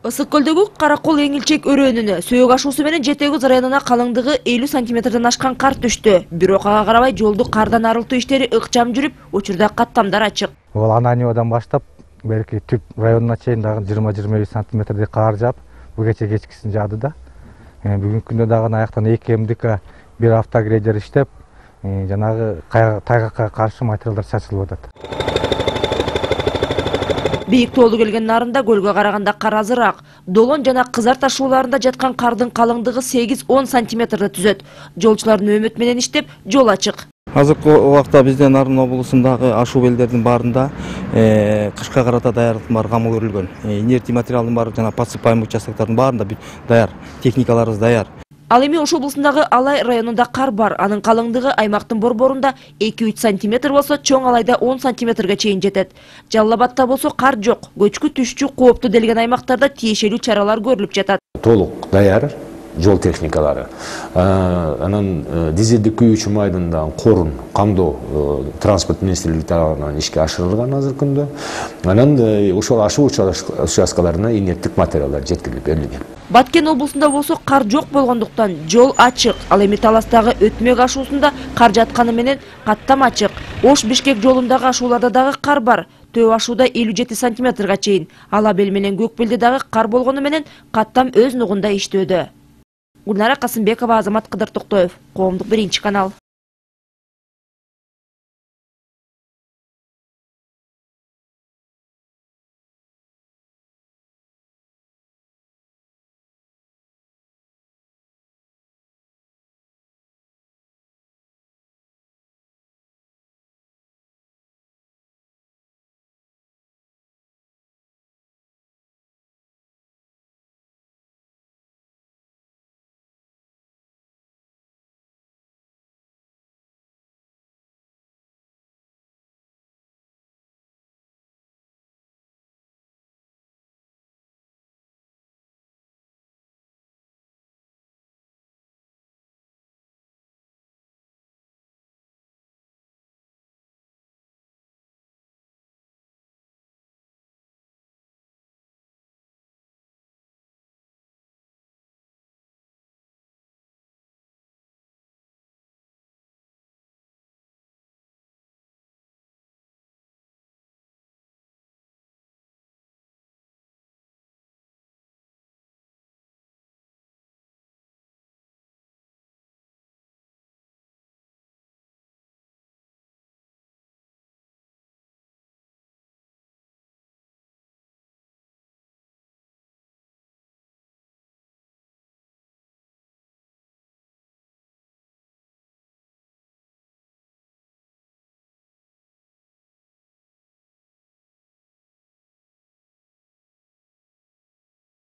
Ысык көлдөгү Каракол Эңилчек өрөөнүнө сөөк ашуусу менен Жети Көз районуна калыңдыгы 50 сантиметрден ашкан кар түштү. Бирок ага карабай жолду кардан арылтуу иштери ыкчам жүрүп, учурда каттамдар ачык. Бул Ананьевадан баштап берки түп районуна чейин дагы 20-25 сантиметрдей кар жаап, бул кече кечкисин жаады да. Бүгүнкү күндө дагы аяктан 2 МДК бир автогрейдер иштеп, жанагы тайгакка каршы материалдар чачылып атат. Бийик тоолу келген нарында көлгө караганда кар азыраак. Долон жана Кызар ташууларында жаткан кардын калыңдыгы 8-10 сантиметрди түзөт. Жолчулардын өмөт менен иштеп, жол ачык. Азыркы убакта биздин Нарын облусундагы ашуу белдердин баарында кышка карата даярдыктын баары камыл көрүлгөн. Инертий материалдын баары жана подсыпаемый участоктордун баарында даяр, техникаларыбыз даяр. Ал эми Ош облусундагы Алай районунда кар бар. Анын калыңдыгы аймактын борборунда 2-3 сантиметр болсо, чоң Алайда 10 сантиметрге чейин жетет. Жалал Абадта болсо кар жок. Көчкү түшчү кооптуу делген аймактарда тиешелүү чаралар көрүлүп жатат. Толук даяр жол техникалары. Анан дизелдик күйүүчү майдын корун камдоо транспорт министрлиги тарабынан ишке ашырылган азыркы күндө. Анан ошол ашуу участкаларына инерттик материалдар жеткирилип берилген. Баткен облусунда болсо кар жок болгондуктан жол ачык. Ал эми Таластагы Өтмөк ашуусунда кар жатканы менен каттам ачык. Ош-Бишкек жолундагы ашууларда дагы кар бар. Төө ашууда 57 сантиметрга чейин. Ала бел менен Көкбелде дагы кар болгону менен каттам өз нугунда иштөөдө. Гүлнара Касымбекова, Азамат Кыдыр Токтоев, Коомдук 1 канал.